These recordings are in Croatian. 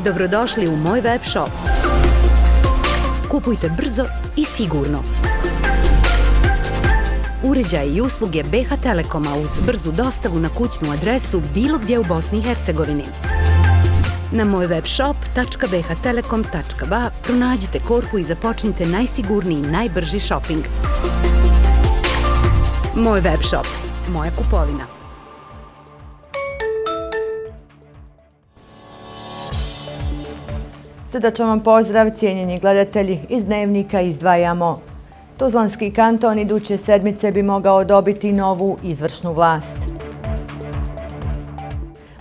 Dobrodošli u moj web shop. Kupujte brzo i sigurno. Uređaje i usluge BH Telekoma uz brzu dostavu na kućnu adresu bilo gdje u Bosni i Hercegovini. Na mojwebshop.bhtelekom.ba pronađite korpu i započnite najsigurniji i najbrži shopping. Moj web shop. Moja kupovina. Srdačan vam pozdrav, cijenjeni gledatelji, iz Dnevnika izdvajamo. Tuzlanski kanton iduće sedmice bi mogao dobiti novu izvršnu vlast.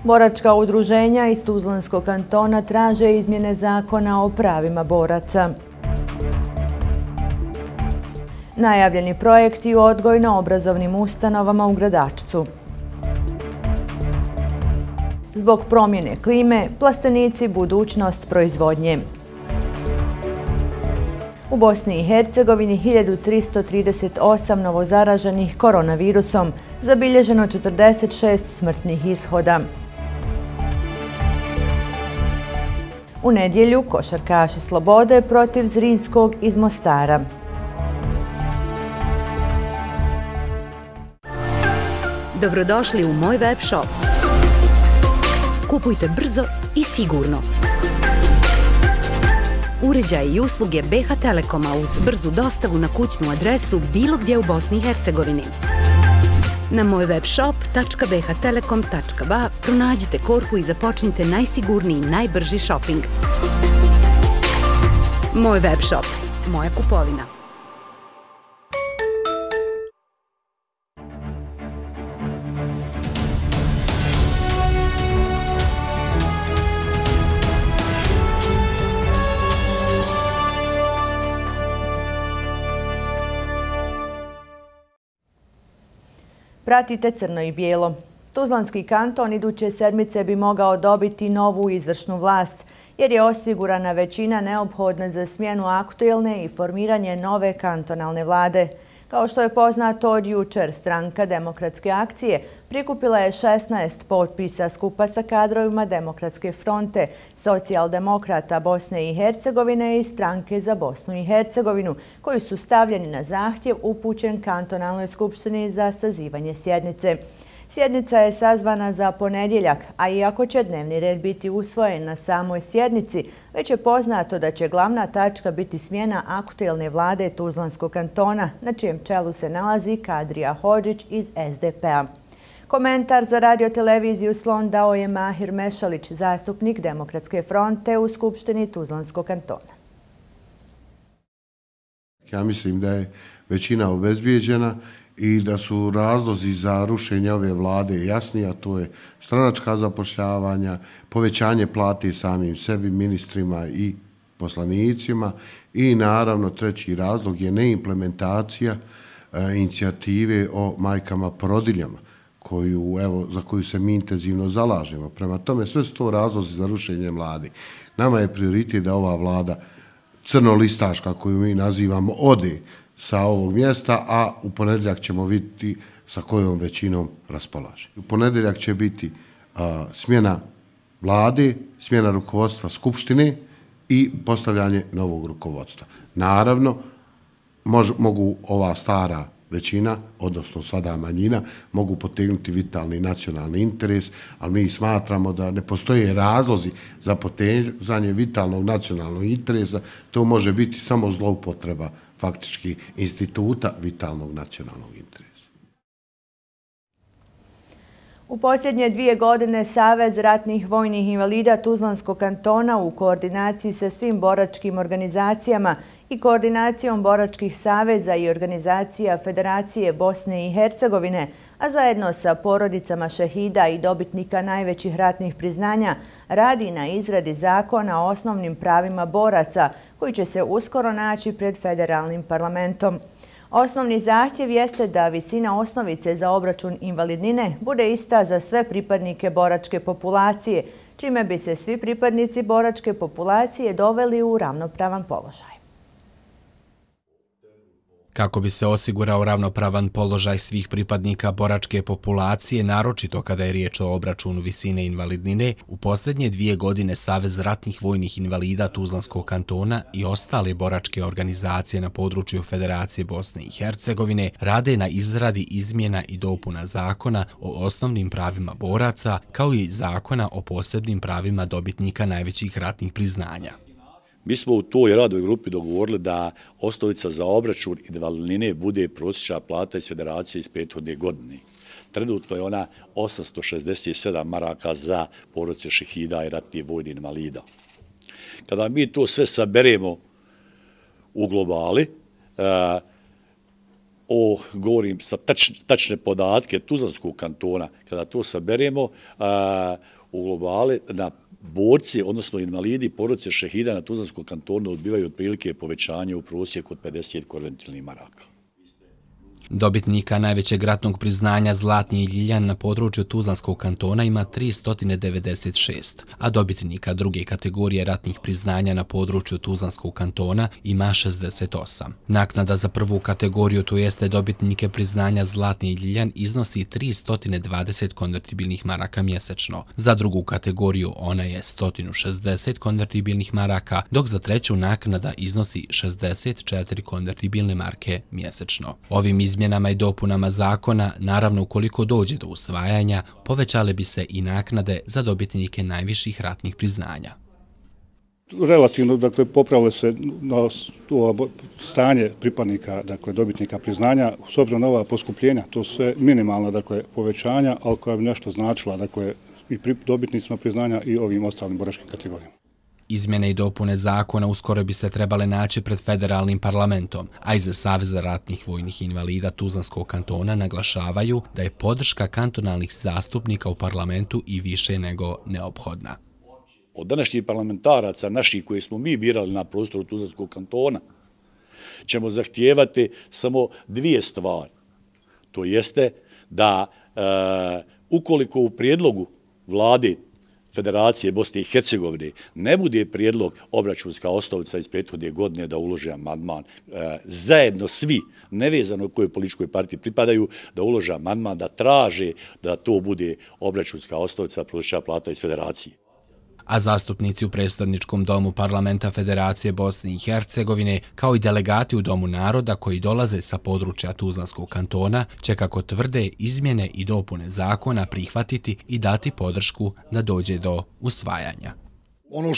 Boračka udruženja iz Tuzlanskog kantona traže izmjene zakona o pravima boraca. Najavljeni projekti u odgojno-obrazovnim ustanovama u Gradačcu. Zbog promjene klime, plastenici budućnost proizvodnje. U Bosni i Hercegovini 1338 novozaraženih koronavirusom, zabilježeno 46 smrtnih ishoda. U nedjelju košarkaši Slobode protiv Zrinskog iz Mostara. Dobrodošli u moj web shop. Kupujte brzo i sigurno. Uređaje i usluge BH Telekoma uz brzu dostavu na kućnu adresu bilo gdje u Bosni i Hercegovini. Na mojwebshop.bhtelekom.ba pronađite korpu i započnite najsigurniji i najbrži shopping. Moj web shop. Moja kupovina. Pratite Crno i bijelo. Tuzlanski kanton iduće sedmice bi mogao dobiti novu izvršnu vlast, jer je osigurana većina neophodna za smjenu aktuelne i formiranje nove kantonalne vlade. Kao što je poznato od jučer, stranka Demokratske akcije prikupila je 16 potpisa skupa sa kadrovima Demokratske fronte, socijaldemokrata Bosne i Hercegovine i stranke za Bosnu i Hercegovinu, koji su stavljeni na zahtjev upućen kantonalnoj skupštini za sazivanje sjednice. Sjednica je sazvana za ponedjeljak, a iako će dnevni red biti usvojen na samoj sjednici, već je poznato da će glavna tačka biti smjena aktuelne vlade Tuzlanskog kantona, na čijem čelu se nalazi Kadrija Hodžić iz SDP-a. Komentar za radioteleviziju Slon dao je Mahir Mešalić, zastupnik Demokratske fronte u Skupštini Tuzlanskog kantona. Ja mislim da je većina obezbijeđena i da su razlozi za rušenje ove vlade jasni, a to je stranačka zapošljavanja, povećanje plate samim sebi, ministrima i poslanicima i naravno treći razlog je neimplementacija inicijative o majkama porodiljama, za koju se mi intenzivno zalažemo. Prema tome, sve su to razlozi za rušenje vlade. Nama je prioritet da ova vlada crnolistaška, koju mi nazivamo, ode sa ovog mjesta, a u ponedjeljak ćemo vidjeti sa kojom većinom raspolaže. U ponedjeljak će biti smjena vlade, smjena rukovodstva Skupštine i postavljanje novog rukovodstva. Naravno, mogu ova stara većina, odnosno sada manjina, mogu potegnuti vitalni nacionalni interes, ali mi smatramo da ne postoje razlozi za potezanje vitalnog nacionalnog interesa. To može biti samo zloupotreba faktički instituta vitalnog nacionalnog interesa. U posljednje 2 godine Savez ratnih vojnih invalida Tuzlanskog kantona u koordinaciji sa svim boračkim organizacijama i koordinacijom boračkih saveza i organizacija Federacije Bosne i Hercegovine, a zajedno sa porodicama šehida i dobitnika najvećih ratnih priznanja, radi na izradi zakona o osnovnim pravima boraca, koji će se uskoro naći pred federalnim parlamentom. Osnovni zahtjev jeste da visina osnovice za obračun invalidnine bude ista za sve pripadnike boračke populacije, čime bi se svi pripadnici boračke populacije doveli u ravnopravan položaj. Kako bi se osigurao ravnopravan položaj svih pripadnika boračke populacije, naročito kada je riječ o obračunu visine invalidnine, u posljednje 2 godine Savez ratnih vojnih invalida Tuzlanskog kantona i ostale boračke organizacije na području Federacije Bosne i Hercegovine rade na izradi izmjena i dopuna zakona o osnovnim pravima boraca, kao i zakona o posebnim pravima dobitnika najvećih ratnih priznanja. Mi smo u toj radnoj grupi dogovorili da osnovica za obračun invalidnine bude prosječna plata iz Federacije iz prethodne godine. Trenutno je ona 867 maraka za porodice šehida i ratnih vojnih invalida. Kada mi to sve saberemo u globali, govorim sa tačne podatke Tuzlanskog kantona, kada to saberemo u globali na borci, odnosno invalidi, porodice šehida na Tuzlanskom kantonu odbivaju otprilike povećanje u prosjeku od 50 konvertibilnih maraka. Dobitnika najvećeg ratnog priznanja Zlatni Ljiljan na području Tuzlanskog kantona ima 396, a dobitnika druge kategorije ratnih priznanja na području Tuzlanskog kantona ima 68. Naknada za prvu kategoriju, to jeste dobitnike priznanja Zlatni Ljiljan, iznosi 320 konvertibilnih maraka mjesečno. Za drugu kategoriju ona je 160 konvertibilnih maraka, dok za treću naknada iznosi 64 konvertibilne marke mjesečno. Ovim izmjenama i dopunama zakona, naravno ukoliko dođe do usvajanja, povećale bi se i naknade za dobitnike najviših ratnih priznanja. Relativno, dakle, popravile se na stanje pripadnika, dakle, dobitnika priznanja, s obzirom na ova poskupljenja, to su sve minimalna, dakle, povećanja, ali koja bi nešto značila, dakle, i dobitnicima priznanja i ovim ostalim boračkim kategorijama. Izmjene i dopune zakona uskoro bi se trebale naći pred federalnim parlamentom, a iz Saveza ratnih vojnih invalida Tuzlanskog kantona naglašavaju da je podrška kantonalnih zastupnika u parlamentu i više nego neophodna. Od današnjih parlamentaraca, naših koje smo mi birali na prostoru Tuzlanskog kantona, ćemo zahtijevati samo 2 stvari. To jeste da ukoliko u prijedlogu vlade Federacije Bosne i Hercegovine ne bude prijedlog obračunska osnovica iz prethodne godine da ulože amandman, zajedno svi, nevezano kojoj političkoj partiji pripadaju, da ulože amandman, da traže da to bude obračunska osnovica prosječna plata iz Federacije. A zastupnici u predstavničkom domu Parlamenta Federacije Bosne i Hercegovine, kao i delegati u Domu naroda koji dolaze sa područja Tuzlanskog kantona, će, kako tvrde, izmjene i dopune zakona prihvatiti i dati podršku da dođe do usvajanja. Ono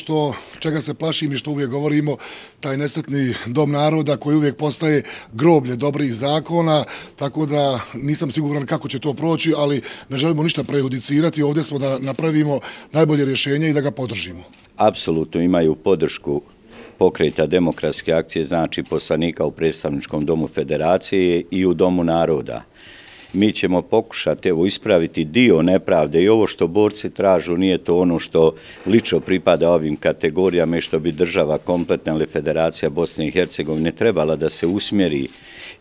čega se plašim i što uvijek govorimo, taj nesretni dom naroda koji uvijek postaje groblje dobrih zakona, tako da nisam siguran kako će to proći, ali ne želimo ništa prejudicirati. Ovdje smo da napravimo najbolje rješenje i da ga podržimo. Apsolutno imaju podršku Pokreta demokratske akcije, znači poslanika u predstavničkom domu Federacije i u Domu naroda. Mi ćemo pokušati ispraviti dio nepravde i ovo što borci tražu nije to ono što lično pripada ovim kategorijama i što bi država kompletna ili Federacija Bosne i Hercegovine trebala da se usmjeri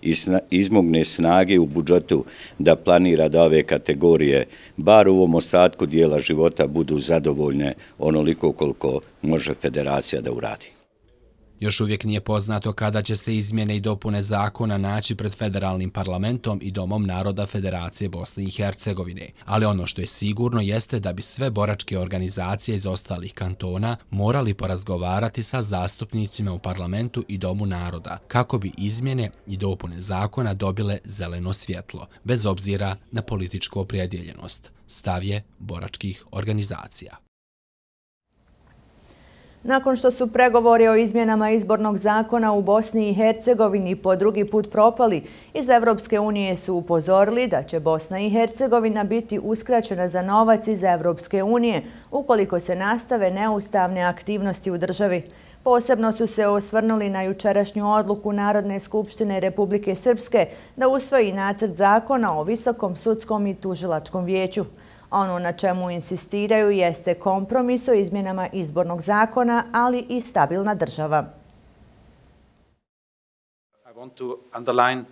i izmogne snage u budžetu da planira da ove kategorije, bar u ovom ostatku dijela života, budu zadovoljne onoliko koliko može Federacija da uradi. Još uvijek nije poznato kada će se izmjene i dopune zakona naći pred federalnim parlamentom i Domom naroda Federacije Bosne i Hercegovine, ali ono što je sigurno jeste da bi sve boračke organizacije iz ostalih kantona morali porazgovarati sa zastupnicima u parlamentu i Domu naroda kako bi izmjene i dopune zakona dobile zeleno svjetlo, bez obzira na političku opredjeljenost, stav je boračkih organizacija. Nakon što su pregovori o izmjenama izbornog zakona u Bosni i Hercegovini po drugi put propali, iz Evropske unije su upozorili da će Bosna i Hercegovina biti uskraćena za novac iz Evropske unije ukoliko se nastave neustavne aktivnosti u državi. Posebno su se osvrnuli na jučerašnju odluku Narodne skupštine Republike Srpske da usvoji nacrt zakona o Visokom sudskom i tužilačkom vijeću. Ono na čemu insistiraju jeste kompromis o izmjenama izbornog zakona, ali i stabilna država. I want to underline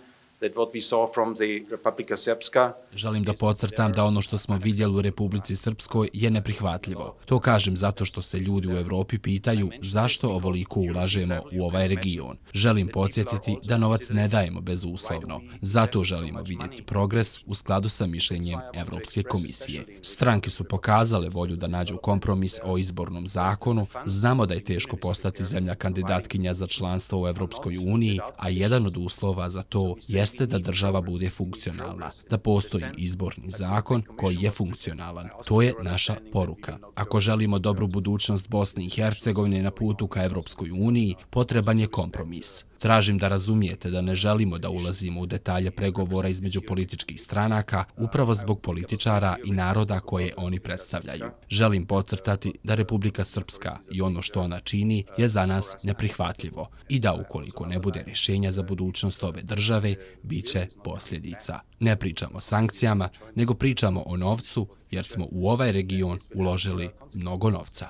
Želim da podcrtam da ono što smo vidjeli u Republici Srpskoj je neprihvatljivo. To kažem zato što se ljudi u Evropi pitaju zašto ovoliko ulažemo u ovaj region. Želim podsjetiti da novac ne dajemo bezuslovno. Zato želimo vidjeti progres u skladu sa mišljenjem Evropske komisije. Stranke su pokazale volju da nađu kompromis o izbornom zakonu. Znamo da je teško postati zemlja kandidatkinja za članstvo u Evropskoj uniji, a jedan od uslova za to jeste da država bude funkcionalna, da postoji izborni zakon koji je funkcionalan. To je naša poruka. Ako želimo dobru budućnost Bosne i Hercegovine na putu ka Evropskoj uniji, potreban je kompromis. Tražim da razumijete da ne želimo da ulazimo u detalje pregovora između političkih stranaka upravo zbog političara i naroda koje oni predstavljaju. Želim podcrtati da Republika Srpska i ono što ona čini je za nas neprihvatljivo i da ukoliko ne bude rješenja za budućnost ove države, bit će posljedica. Ne pričamo o sankcijama, nego pričamo o novcu jer smo u ovaj region uložili mnogo novca.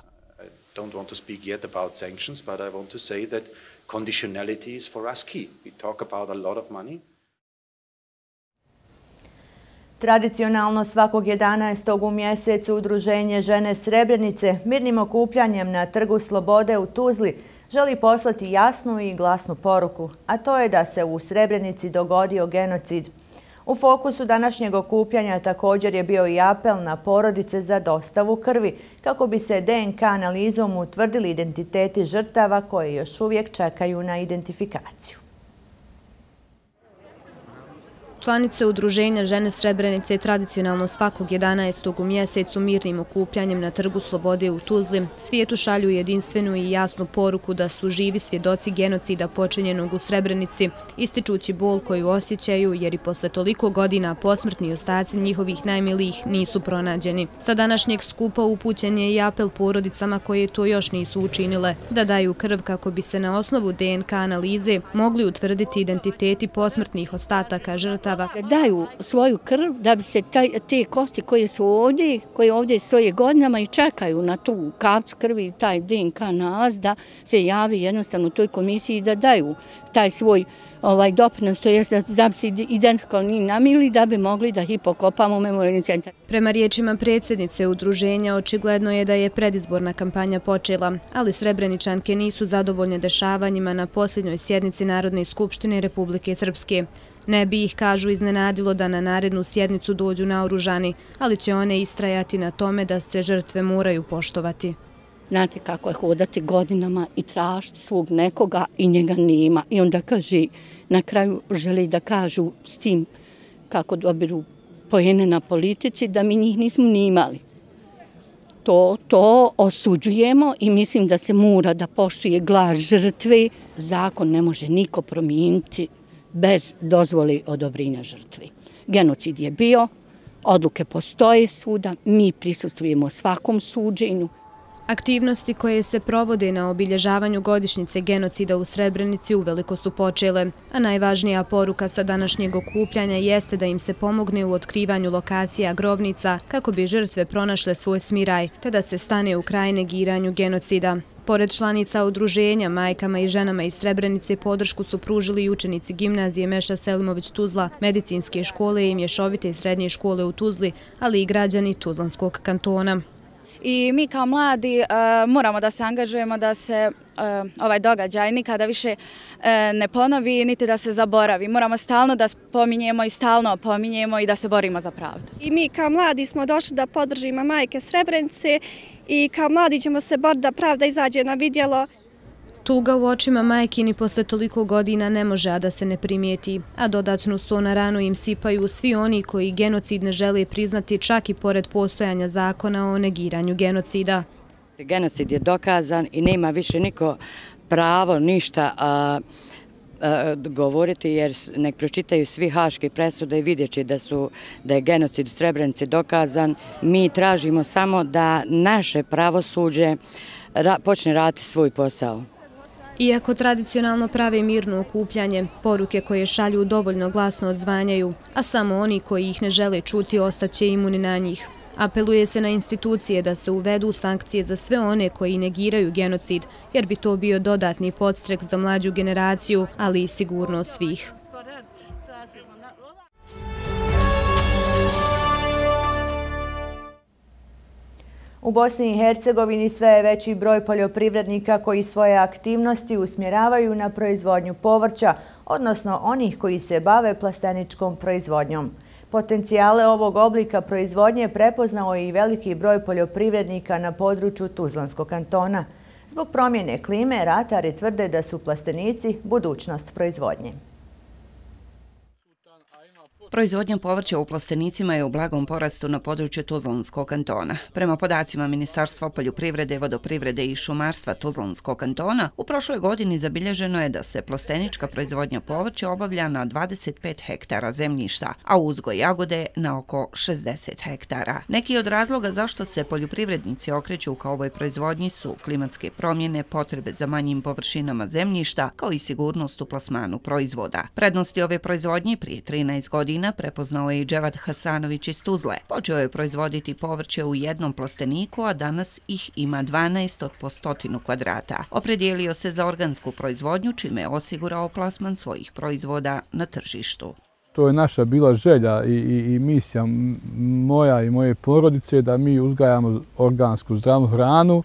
Conditionality is for us key. We talk about a lot of money. Tradicionalno svakog 11. u mjesecu Udruženje Žene Srebrenice mirnim okupljanjem na Trgu Slobode u Tuzli želi poslati jasnu i glasnu poruku, a to je da se u Srebrenici dogodio genocid. U fokusu današnjeg okupljanja također je bio i apel na porodice za dostavu krvi, kako bi se DNK analizom utvrdili identiteti žrtava koje još uvijek čekaju na identifikaciju. Članice Udruženja Žene Srebrenice tradicionalno svakog 11. u mjesecu mirnim okupljanjem na Trgu Slobode u Tuzli svijetu šalju jedinstvenu i jasnu poruku da su živi svjedoci genocida počinjenog u Srebrenici, ističući bol koju osjećaju jer i posle toliko godina posmrtni ostaci njihovih najmilijih nisu pronađeni. Sa današnjeg skupa upućen je i apel porodicama koje to još nisu učinile, da daju krv kako bi se na osnovu DNK analize mogli utvrditi identiteti posmrtnih ostataka žrtava. Da daju svoju krv da bi se te kosti koje su ovdje, koje ovdje stoje godinama i čekaju na tu kapcu krvi, taj DNK nalaz, da se javi jednostavno toj komisiji da daju taj svoj doprinos, to jest da bi se identifikovali namili da bi mogli da ih pokopamo u memorijalni centar. Prema riječima predsjednice udruženja, očigledno je da je predizborna kampanja počela, ali Srebreničanke nisu zadovoljne dešavanjima na posljednjoj sjednici Narodne skupštine Republike Srpske. Ne bi ih, kažu, iznenadilo da na narednu sjednicu dođu naoružani, ali će one istrajati na tome da se žrtve moraju poštovati. Znate kako je hodati godinama i tražiti svog nekoga i njega nema. I onda kaže, na kraju želi da kažu s tim kako dobiru poene na politici da mi njih nismo ni imali. To osuđujemo i mislim da se mora da poštuje glas žrtve. Zakon ne može niko promijeniti bez dozvoli odobrenja žrtvi. Genocid je bio, odluke postoje svuda, mi prisustvujemo svakom suđenju. Aktivnosti koje se provode na obilježavanju godišnjice genocida u Srebrenici uveliko su počele, a najvažnija poruka sa današnjeg okupljanja jeste da im se pomogne u otkrivanju lokacija grobnica kako bi žrtve pronašle svoj smiraj, te da se stane u kraj negiranju genocida. Pored članica udruženja, majkama i ženama iz Srebrenice podršku su pružili i učenici gimnazije Meša Selimović Tuzla, medicinske škole i mješovite srednje škole u Tuzli, ali i građani Tuzlanskog kantona. I mi kao mladi moramo da se angažujemo da se ovaj događaj nikada više ne ponovi niti da se zaboravi. Moramo stalno da spominjemo i stalno opominjemo i da se borimo za pravdu. I mi kao mladi smo došli da podržimo majke Srebrenice i kao mladi ćemo se boriti da pravda izađe na vidjelo. Tuga u očima majkini posle toliko godina ne može a da se ne primijeti, a dodatnu so na ranu im sipaju svi oni koji genocid ne žele priznati čak i pored postojanja zakona o negiranju genocida. Genocid je dokazan i nema više niko pravo ništa govoriti jer nek pročitaju svi haške presude i vidjet će da je genocid u Srebrenici dokazan. Mi tražimo samo da naše pravosuđe počne raditi svoj posao. Iako tradicionalno prave mirno okupljanje, poruke koje šalju dovoljno glasno odzvanjaju, a samo oni koji ih ne žele čuti ostaće imuni na njih. Apeluje se na institucije da se uvedu sankcije za sve one koji negiraju genocid, jer bi to bio dodatni podstrek za mlađu generaciju, ali i sigurnost svih. U Bosni i Hercegovini sve je veći broj poljoprivrednika koji svoje aktivnosti usmjeravaju na proizvodnju povrća, odnosno onih koji se bave plasteničkom proizvodnjom. Potencijale ovog oblika proizvodnje prepoznao je i veliki broj poljoprivrednika na području Tuzlanskog kantona. Zbog promjene klime, ratari tvrde da su plastenici budućnost proizvodnje. Proizvodnja povrća u plastenicima je u blagom porastu na području Tuzlanskog kantona. Prema podacima Ministarstva poljoprivrede, vodoprivrede i šumarstva Tuzlanskog kantona, u prošloj godini zabilježeno je da se plastenička proizvodnja povrća obavlja na 25 hektara zemljišta, a uzgoj jagode na oko 60 hektara. Neki od razloga zašto se poljoprivrednici okreću ka ovoj proizvodnji su klimatske promjene, potrebe za manjim površinama zemljišta, kao i sigurnost u plasmanu proizvoda. Prednosti ove proizvodnje prije 13 godina prepoznao je i Dževad Hasanović iz Tuzle. Počeo je proizvoditi povrće u jednom plasteniku, a danas ih ima 12 od po 100 kvadrata. Opredijelio se za organsku proizvodnju, čime je osigurao plasman svojih proizvoda na tržištu. To je naša bila želja i misija moja i moje porodice da mi uzgajamo organsku zdravu hranu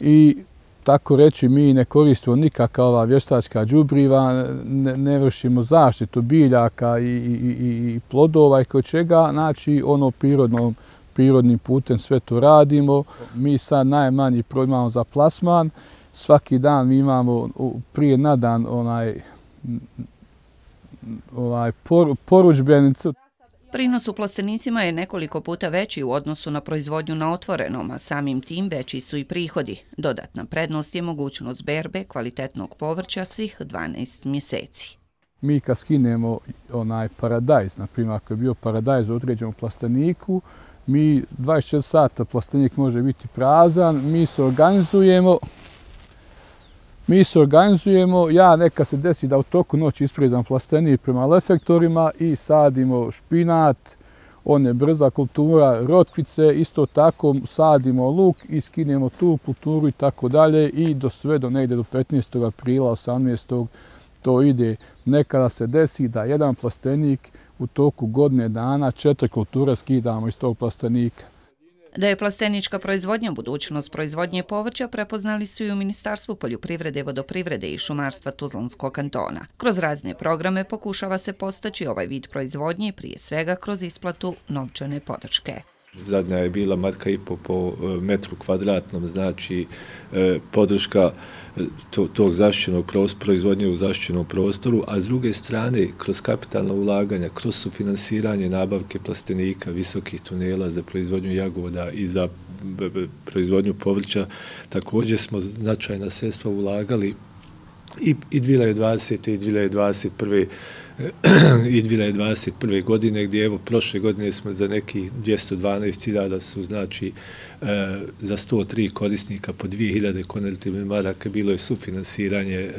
i tako reći, mi ne koristimo nikakva vještačka đubriva, ne vršimo zaštitu biljaka i plodova i kod čega, znači ono prirodnim putem sve to radimo. Mi sad najmanji imamo za plasman, svaki dan mi imamo prije na dan porudžbenicu. Prinos u plastenicima je nekoliko puta veći u odnosu na proizvodnju na otvorenom, a samim tim veći su i prihodi. Dodatna prednost je mogućnost berbe kvalitetnog povrća svih 12 mjeseci. Mi kad skinemo paradajz, na primjer ako je bio paradajz u određenom plasteniku, mi 24 sata plastenik može biti prazan, mi se organizujemo, ja neka se desi da u toku noći isprezam plastenik prema lefektorima i sadimo špinat, on je brza kultura, rotkvice, isto tako sadimo luk i skinemo tu kulturu i tako dalje i do negdje do 15. aprila, 18. to ide. Nekada se desi da jedan plastenik u toku godine dana 4 kulture skidamo iz tog plastenika. Da je plastenička proizvodnja budućnost proizvodnje povrća prepoznali su i u Ministarstvu poljoprivrede, vodoprivrede i šumarstva Tuzlanskog kantona. Kroz razne programe pokušava se postaći ovaj vid proizvodnje, prije svega kroz isplatu novčane podrške. Zadnja je bila 1,5 po metru kvadratnom, znači podrška tog zaštićenog proizvodnje u zaštićenom prostoru, a s druge strane, kroz kapitalna ulaganja, kroz sufinansiranje nabavke plastenika, visokih tunela za proizvodnju jagoda i za proizvodnju povrća, također smo značajna sredstva ulagali i 2020. i 2021. godine, gdje evo prošle godine smo za nekih 212.000 su znači za 103 korisnika po 2.000 konvertibilnih maraka bilo je sufinansiranje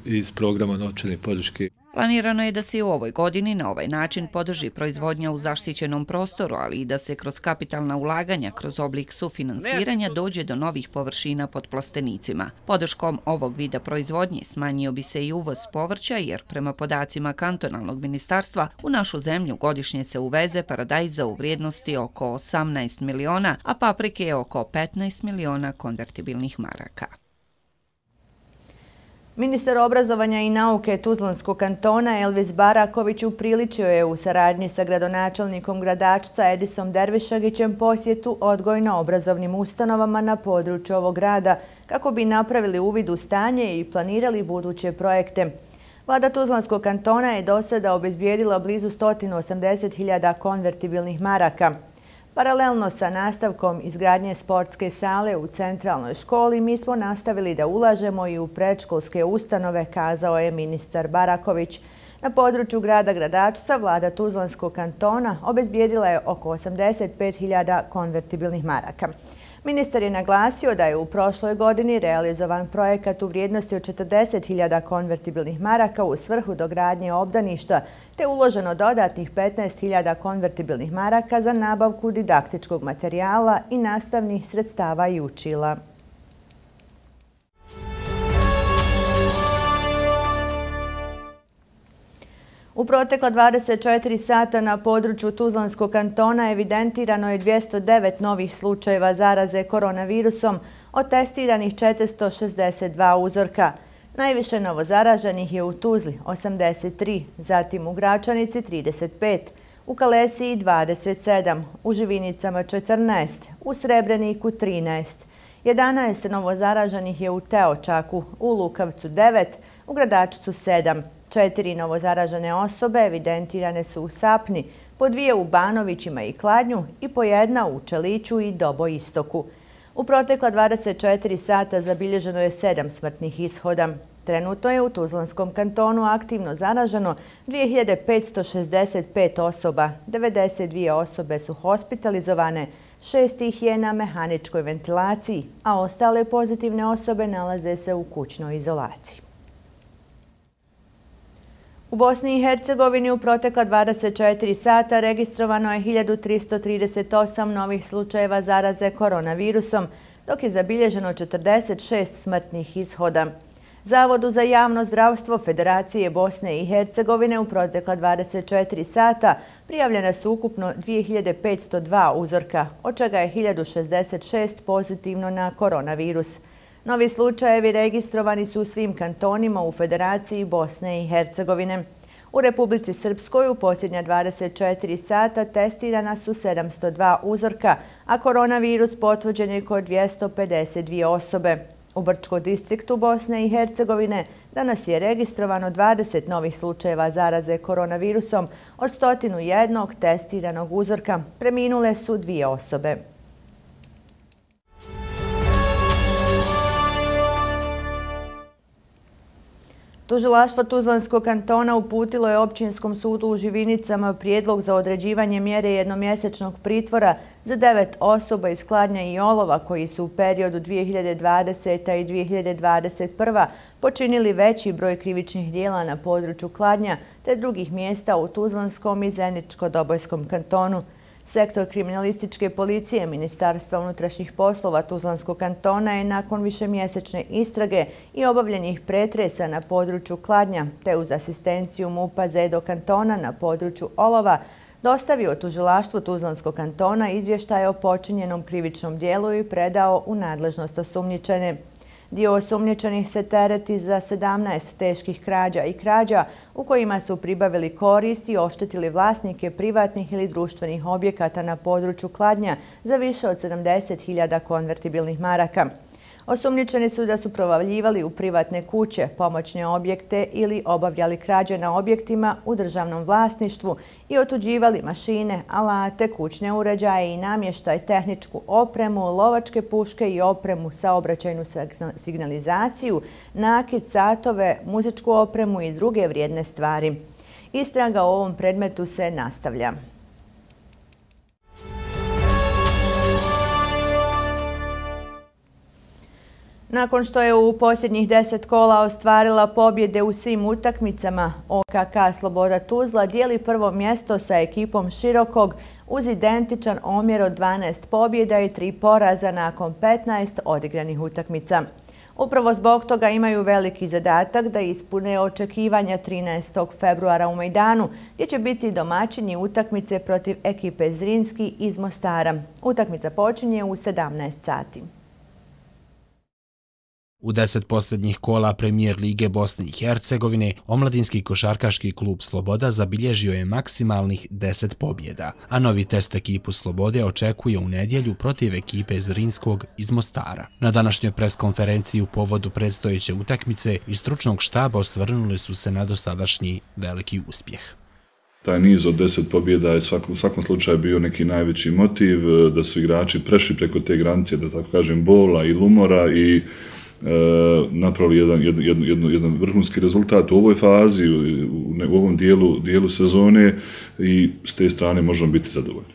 iz programa novčane podrške. Planirano je da se i u ovoj godini na ovaj način podrži proizvodnja u zaštićenom prostoru, ali i da se kroz kapitalna ulaganja, kroz oblik sufinansiranja dođe do novih površina pod plastenicima. Podrškom ovog vida proizvodnje smanjio bi se i uvoz povrća, jer prema podacima kantonalnog ministarstva u našu zemlju godišnje se uveze paradajza u vrijednosti oko 18 miliona, a paprike je oko 15 miliona konvertibilnih maraka. Ministar obrazovanja i nauke Tuzlanskog kantona Elvis Baraković upriličio je u saradnji sa gradonačelnikom Gradačca Edisom Dervišagićem posjetu odgojno-obrazovnim ustanovama na području ovog grada kako bi napravili uvid u stanje i planirali buduće projekte. Vlada Tuzlanskog kantona je do sada obezbijedila blizu 180.000 konvertibilnih maraka. Paralelno sa nastavkom izgradnje sportske sale u centralnoj školi, mi smo nastavili da ulažemo i u predškolske ustanove, kazao je ministar Baraković. Na području grada Gradačca vlada Tuzlanskog kantona obezbijedila je oko 85.000 konvertibilnih maraka. Ministar je naglasio da je u prošloj godini realizovan projekat u vrijednosti od 40.000 konvertibilnih maraka u svrhu dogradnje obdaništa, te uloženo dodatnih 15.000 konvertibilnih maraka za nabavku didaktičkog materijala i nastavnih sredstava i učila. U protekla 24 sata na području Tuzlanskog kantona evidentirano je 209 novih slučajeva zaraze koronavirusom, od testiranih 462 uzorka. Najviše novozaraženih je u Tuzli 83, zatim u Gračanici 35, u Kalesiji 27, u Živinicama 14, u Srebreniku 13. 11 novozaraženih je u Teočaku, u Lukavcu 9, u Gradačcu 7. 4 novozaražene osobe evidentirane su u Sapni, po 2 u Banovićima i Kladnju i po 1 u Čeliću i Doboistoku. U protekla 24 sata zabilježeno je 7 smrtnih ishoda. Trenutno je u Tuzlanskom kantonu aktivno zaraženo 2565 osoba, 92 osobe su hospitalizovane, 6 ih je na mehaničkoj ventilaciji, a ostale pozitivne osobe nalaze se u kućnoj izolaciji. U Bosni i Hercegovini u protekla 24 sata registrovano je 1338 novih slučajeva zaraze koronavirusom, dok je zabilježeno 46 smrtnih ishoda. Zavodu za javno zdravstvo Federacije Bosne i Hercegovine u protekla 24 sata prijavljena su ukupno 2502 uzorka, od čega je 1066 pozitivno na koronavirus. Novi slučajevi registrovani su u svim kantonima u Federaciji Bosne i Hercegovine. U Republici Srpskoj u posljednja 24 sata testirana su 702 uzorka, a koronavirus potvrđen je kod 252 osobe. U Brčkom distriktu Bosne i Hercegovine danas je registrovano 20 novih slučajeva zaraze koronavirusom od 101 testiranog uzorka. Preminule su 2 osobe. Tužilaštvo Tuzlanskog kantona uputilo je Općinskom sudu u Živinicama prijedlog za određivanje mjere jednomjesečnog pritvora za 9 osoba iz Kladnja i Olova koji su u periodu 2020. i 2021. počinili veći broj krivičnih dijela na području Kladnja te drugih mjesta u Tuzlanskom i Zeničko-Dobojskom kantonu. Sektor kriminalističke policije Ministarstva unutrašnjih poslova Tuzlanskog kantona je nakon višemjesečne istrage i obavljenih pretresa na području Kladnja te uz asistenciju MUP-a Zedo kantona na području Olova dostavio tužilaštvu Tuzlanskog kantona izvještaje o počinjenom krivičnom dijelu i predao u nadležnost osumnjičene. Dio osumnjičenih se tereti za 17 teških krađa i krađa u kojima su pribavili korist i oštetili vlasnike privatnih ili društvenih objekata na području Kladnja za više od 70.000 konvertibilnih maraka. Osumnjičeni su da su provavljivali u privatne kuće, pomoćne objekte ili obavljali krađe na objektima u državnom vlasništvu i otuđivali mašine, alate, kućne uređaje i namještaj, tehničku opremu, lovačke puške i opremu, saobraćajnu signalizaciju, nakit, satove, muzičku opremu i druge vrijedne stvari. Istraga o ovom predmetu se nastavlja. Nakon što je u posljednjih 10 kola ostvarila pobjede u svim utakmicama, OKK Sloboda Tuzla dijeli prvo mjesto sa ekipom Širokog uz identičan omjer od 12 pobjeda i 3 poraza nakon 15 odigranih utakmica. Upravo zbog toga imaju veliki zadatak da ispune očekivanja 13. februara u Majdanu, gdje će biti domaćini utakmice protiv ekipe Zrinski iz Mostara. Utakmica počinje u 17 sati. U 10 posljednjih kola Premijer Lige Bosne i Hercegovine, omladinski košarkaški klub Sloboda zabilježio je maksimalnih 10 pobjeda, a novi test ekipu Slobode očekuje u nedjelju protiv ekipe Zrinskog iz Mostara. Na današnjoj preskonferenciji u povodu predstojeće utakmice iz stručnog štaba osvrnuli su se na dosadašnji veliki uspjeh. Taj niz od 10 pobjeda je u svakom slučaju bio neki najveći motiv, da su igrači prešli preko te granice, da tako kažem, bola i lumora i napravili jedan vrhunski rezultat u ovoj fazi, u ovom dijelu sezone i s te strane možemo biti zadovoljni.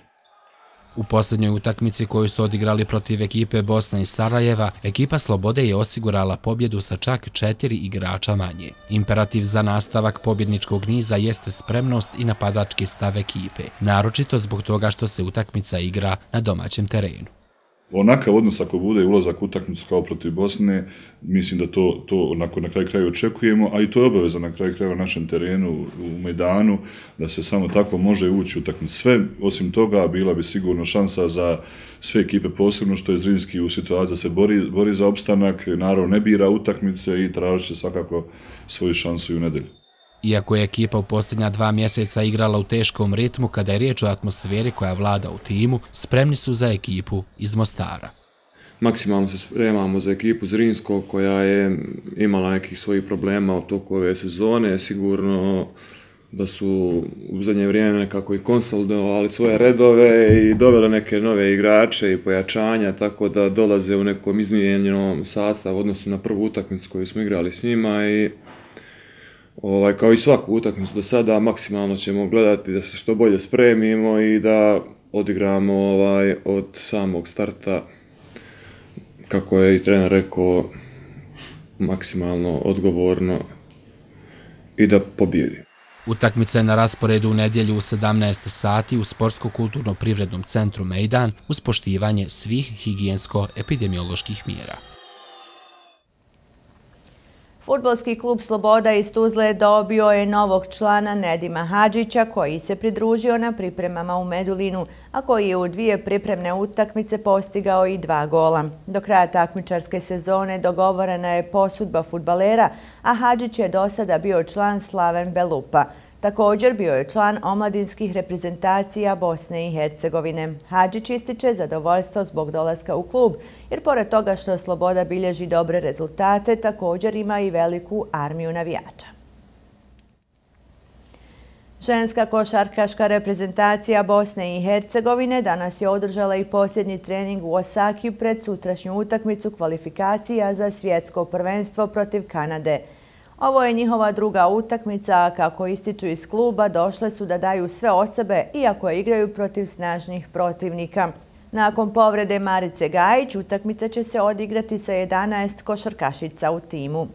U posljednjoj utakmici koju su odigrali protiv ekipe Bosna i Sarajeva, ekipa Slobode je osigurala pobjedu sa čak 4 igrača manje. Imperativ za nastavak pobjedničkog niza jeste spremnost i napadački stav ekipe, naročito zbog toga što se utakmica igra na domaćem terenu. onakav odnos ako bude ulazak u utakmicu kao protiv Bosne, mislim da to onako na kraju krajeva očekujemo, a i to je obaveza na kraju krajeva na našem terenu u Mejdanu, da se samo tako može ući u utakmicu. Sve, osim toga, bila bi sigurno šansa za sve ekipe, posebno što je Zrinski u situaciji da se bori za opstanak, naravno ne bira utakmice i tražit će svakako svoju šansu i u nedelju. Iako je ekipa u posljednja 2 mjeseca igrala u teškom ritmu, kada je riječ o atmosferi koja vlada u timu, spremni su za ekipu iz Mostara. Maksimalno se spremamo za ekipu Zrinskog koja je imala nekih svojih problema u toku ove sezone. Sigurno da su u zadnje vrijeme nekako i konsolidovali svoje redove i doveli neke nove igrače i pojačanja, tako da dolaze u nekom izmijenjenom sastavu odnosno na prvu utakmicu koju smo igrali s njima i kao i svaku utakmicu do sada, maksimalno ćemo gledati da se što bolje spremimo i da odigramo od samog starta, kako je i trener rekao, maksimalno odgovorno i da pobjedimo. Utakmica je na rasporedu u nedjelju u 17 sati u Sportsko-kulturno-privrednom centru Mejdan uz poštivanje svih higijensko-epidemioloških mjera. Fudbalski klub Sloboda iz Tuzle dobio je novog člana Nedima Hadžića koji se pridružio na pripremama u Medulinu, a koji je u 2 pripremne utakmice postigao i 2 gola. Do kraja takmičarske sezone dogovorena je posudba fudbalera, a Hadžić je do sada bio član Slaven Belupa. Također bio je član omladinskih reprezentacija Bosne i Hercegovine. Hadžić ističe zadovoljstvo zbog dolaska u klub, jer pored toga što Sloboda bilježi dobre rezultate, također ima i veliku armiju navijača. Ženska košarkaška reprezentacija Bosne i Hercegovine danas je održala i posljednji trening u Osaki pred sutrašnju utakmicu kvalifikacija za svjetsko prvenstvo protiv Kanade. Ovo je njihova druga utakmica, a kako ističu iz kluba, došle su da daju sve od sebe, iako igraju protiv snažnih protivnika. Nakon povrede Marice Gajić, utakmica će se odigrati sa 11 košarkašica u timu.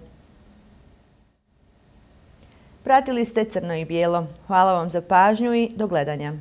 Pratili ste Crno i bijelo. Hvala vam za pažnju i do gledanja.